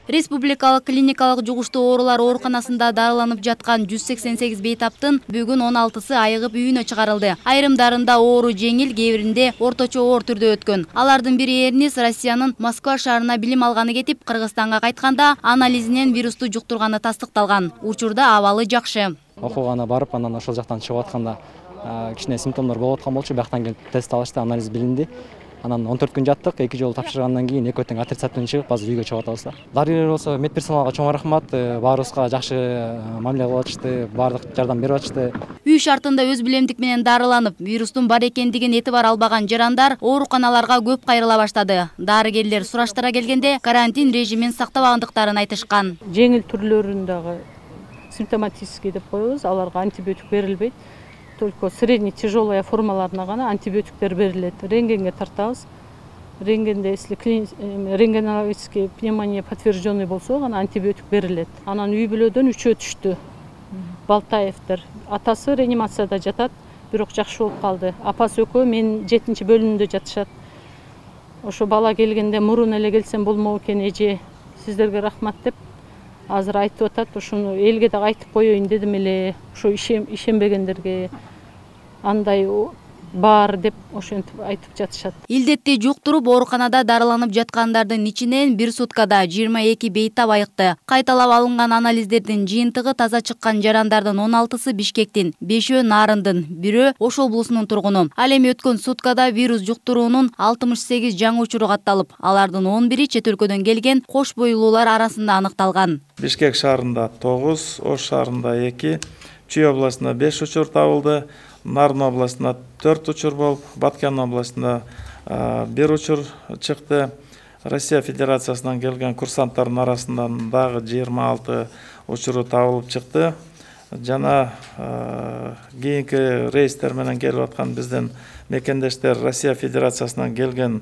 Республикалык клиникалык жугуштуу оорулар ооруканасында дарыланып жаткан 188 бейтаптын бүгүн 16сы айыгып үйүнө чыгарылды. Айрымдарында оору жеңил, кээ биринде орточо оор түрдө өткөн. Алардын бири Эрнис Россиянын Москва шаарына билим алганы кетип, Кыргызстанга кайтканда анализинен вирусту жуктурганы тастыкталган. Учурда абалы жакшы. Окуугана барып, анан ошол жактан чыгып атканда кичине симптомдор болуп аткан болчу. Бияктан келип тест алышты, анализ билинди. Анан 14 күн жаттык, 2 жолу тапшыргандан кийин экөө тең отрицательный чыгып, азыр үйгө чыгып атабыз да. Дарыгерлер болсо медперсоналга чоң рахмат, баарыбызга жакшы мамиле кылып атышты, баардык жардам берип атышты. Үй шартында өз билемдик менен дарыланып, вирустун бар экендигин этибар албаган жарандар ооруканаларга көп кайрыла баштады. Дарыгерлер сураштыра келгенде карантин режимин сактабагандыктарын айтышкан. Жеңил түрлөрүн дагы симптоматический деп коебуз, аларга антибиотик берилбейт. Только средний тяжелая формаларына гана антибиотиктер берилет. Рентгенге тартабыз. Рентгенде если рентгенологический пневмония подтвержденный болсо гана антибиотик берилет. Анан үй бүлөдөн 3 түштү. Балтаевдер. Атасы реанимацияда жатат, бирок жакшы болуп калды. Апасы экөө менин 7-чи бөлүмүндө жатышат. Ошо бала келгенде мурун эле келсем болмок экен, эже, сиздерге рахмат деп азыр айтып атат. Ошону элге да айтып коеюн дедим эле. Ошо ишенбегендерге андай бар деп ошентип айтып жатышат. Илдетти жуктуруп ооруканада дарыланып жаткандардын ичинен бир суткада 22 бейтап айыкты. Кайталап алынган анализдердин жыйынтыгы таза чыккан жарандардын 16сы Бишкектин, 5-өө Нарындын, 1-өө Ош облусунун тургуну. Ал эми өткөн суткада вирус жуктуруунун 68 жаңы учуру катталып, алардын 11-и чет өлкөдөн келген кош бойлуулар арасында аныкталган. Бишкек шаарында 9, Ош шаарында 2, Чүй областында 5 учур табылды. Нарын областында 4 учур болуп, Баткен областында 1 учур чыкты. Россия Федерациясынан келген курсанттардын арасынан дагы 26 учуру табылып чыкты. Жана кийинки рейстер менен келип аткан биздин мекендештер Россия Федерациясынан келген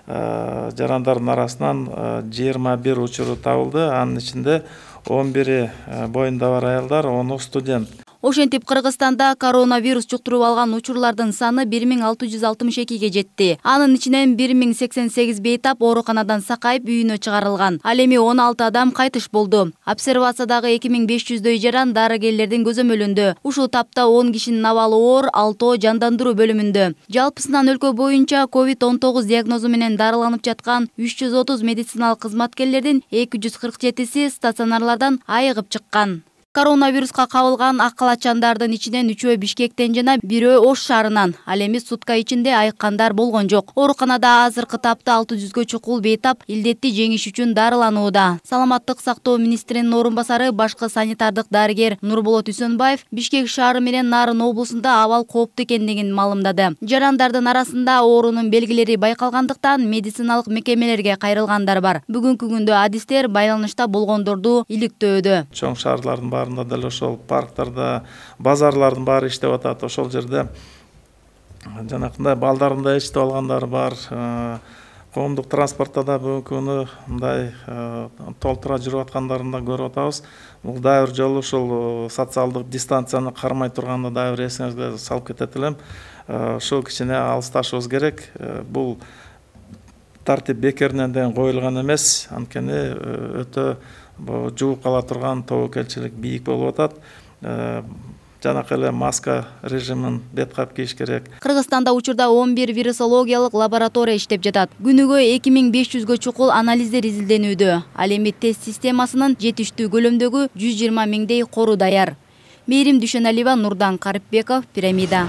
жарандардын арасынан 21 учуру табылды. Анын ичинде 11 боюнда бар аялдар, 10 студент. Ошентип Кыргызстанда коронавирус жуктуруп алган учурлардын саны 1662ге жетти. Анын ичинен 1088 бейтап ооруканадан сакайып үйүнө чыгарылган. Ал эми 16 адам кайтыш болду. Обсервациядагы 2500дөй жаран дарыгерлердин көзөмөлүндө. Ушул тапта 10 кишинин абалы оор, 6 жандандыруу бөлүмүндө. Жалпысынан өлкө боюнча COVID-19 диагнозу менен дарыланып жаткан 330 медициналык кызматкерлердин 247си стационарлардан айыгып чыккан. Коронавируска кабылган ак калачандардын ичинен 3-өө Бишкектен жана 1-өө Ош шаарынан. Ал эми сутка ичинде айыккандар болгон жок. Ооруканада азыркы тапта 600гө чукул бейтап илдетти жеңиш үчүн дарыланууда. Саламаттык сактоо министринин орун басары башкы санитардык дарыгер Нурболот Үсөнбаев Бишкек шаары менен Нарын облусунда абал кооптуу экендигин маалымдады. Жарандардын арасында оорунун белгилери байкалгандыктан медициналык мекемелерге кайрылгандар бар. Бүгүнкү күндө адистер байланышта болгондорду иликтөөдө. Чоң шаарлардын баарында деле ошол парктарда, базарлардын баары иштеп атат. Ошол жерде жанакындай балдарында иштеп алгандар бар. Коомдук транспортто да бүгүнкү күнү мындай толтура жүрүп аткандарын да көрүп атабыз. Бул дагы бир жолу ушул социалдык дистанцияны кармай турганда дагы бир эсиңизге салып кетет элем. Ушул кичине алысташыбыз керек. Бул тартип бекеринен ден коюлган эмес. Анткени өтө жугуп кала турган тобокелчилик бийик болуп атат. Жанакы эле маска режимин бет кап кийиш керек. Кыргызстанда учурда 11 вирусологиялык лаборатория иштеп жатат. Күнүгө 2500гө чукул анализдер изилденүүдө. Ал эми тест системасынын жетиштүү көлөмдөгү 120 миңдей кору даяр. Мээрим Дүйшөналиева, Нурдан Карипбеков, Пирамида.